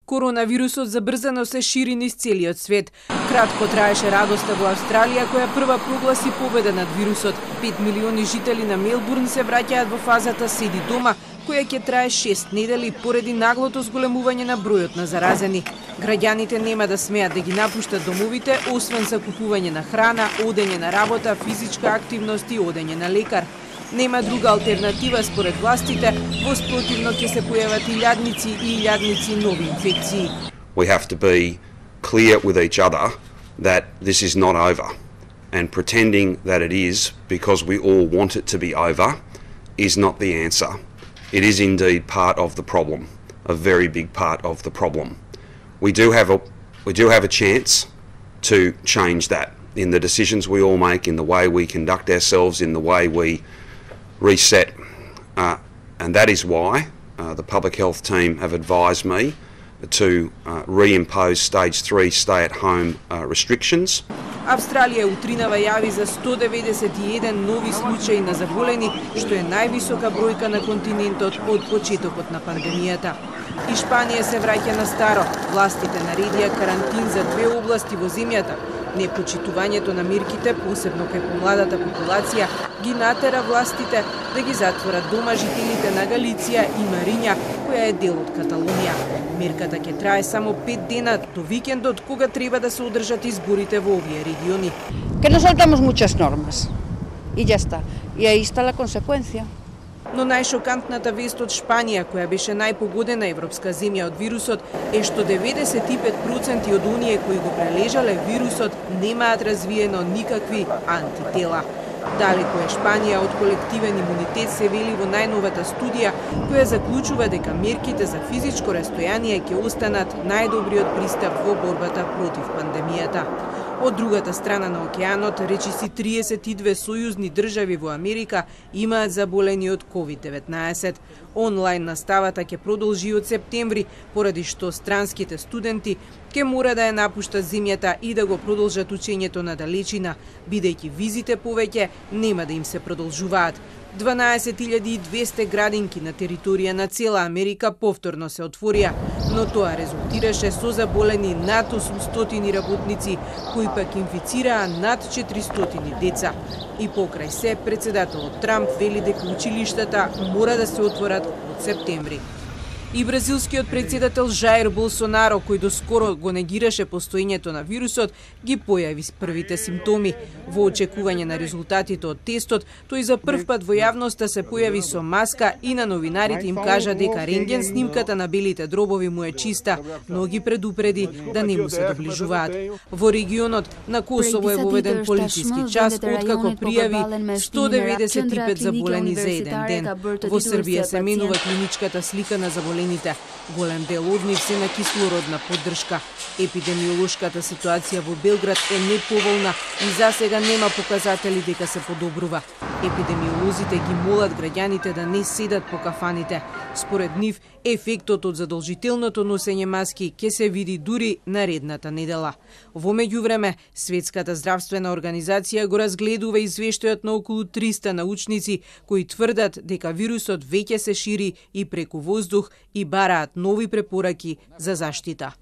Коронавирусот забрзано се шири низ целиот свет. Кратко траеше радоста во Австралија, која прва прогласи победа над вирусот. 5 милиони жители на Мелбурн се враќаат во фазата седи дома, која ќе трае 6 недели поради наглото зголемување на бројот на заразени. Граѓаните нема да смеат да ги напуштат домовите, освен за купување на храна, одење на работа, физичка активност и одење на лекар. Нема друга алтернатива според властите, во спротивно ќе се појават илјадници нови инфекции. We have to be clear with each other that this is not over, and pretending that it is because we all want it to be over is not the answer. It is indeed part of the problem, a very big part of the problem. We do have a chance to change that in the decisions we all make, in the way we conduct ourselves, in the way we reset, and that is why the public health team have advised me to reimpose stage 3 stay-at-home restrictions. Австралија утринава јави за 191 нови случаи на заболени, што е највисока бројка на континентот од почетокот на пандемијата. Испанија се враќа на старо. Властите наредија карантин за 2 области во земјата. Непочитувањето на мерките, посебно кај помладата популација, ги натера властите да ги затворат дома жителите на Галиција и Мариња, која е дел од Каталунија. Мерката ќе трае само 5 дена до викендот, кога треба да се одржат изборите во овие региони. Que no soltamos muchas normas y ya está. Y ahí está la consecuencia. Но најшокантната вест од Шпанија, која беше најпогодена европска земја од вирусот, е што 95% од оние кои го прележале вирусот немаат развиено никакви антитела. Далеко е Шпанија од колективен имунитет, се вели во најновата студија, која заклучува дека мерките за физичко растојание ќе останат најдобриот пристап во борбата против пандемијата. Од другата страна на океанот, речиси 32 сојузни држави во Америка имаат заболени од COVID-19. Онлайн наставата ќе продолжи од септември, поради што странските студенти ќе мора да ја напуштат земјата и да го продолжат учењето на далечина, бидејќи визите повеќе нема да им се продолжуваат. 12.200 градинки на територија на цела Америка повторно се отворија, но тоа резултираше со заболени над 800 работници, кои пак инфицираа над 400 деца. И покрај се, председателот Трамп вели дека училиштата мора да се отворат од септември. И бразилскиот председател Жаир Болсонаро, кој доскоро го негираше постоењето на вирусот, ги појави с првите симптоми. Во очекување на резултатите од тестот, тој за прв пат во јавноста се појави со маска и на новинарите им кажа дека рентген снимката на белите дробови му е чиста, но ги предупреди да не му се доближуваат. Во регионот на Косово е воведен полициски час, откако пријави 195 заболени за еден ден. Во Србија се менува клиничката слика на заболените. Голем дел од нив се на кислородна поддршка. Епидемиолошката ситуација во Белград е неповолна и засега нема показатели дека се подобрува. Епидемиолозите ги молат граѓаните да не седат по кафаните. Според нив, ефектот од задолжителното носење маски ќе се види дури наредната недела. Во меѓувреме, Светската здравствена организација го разгледува извештајот на околу 300 научници кои тврдат дека вирусот веќе се шири и преку воздух и бараат нови препораки за заштита.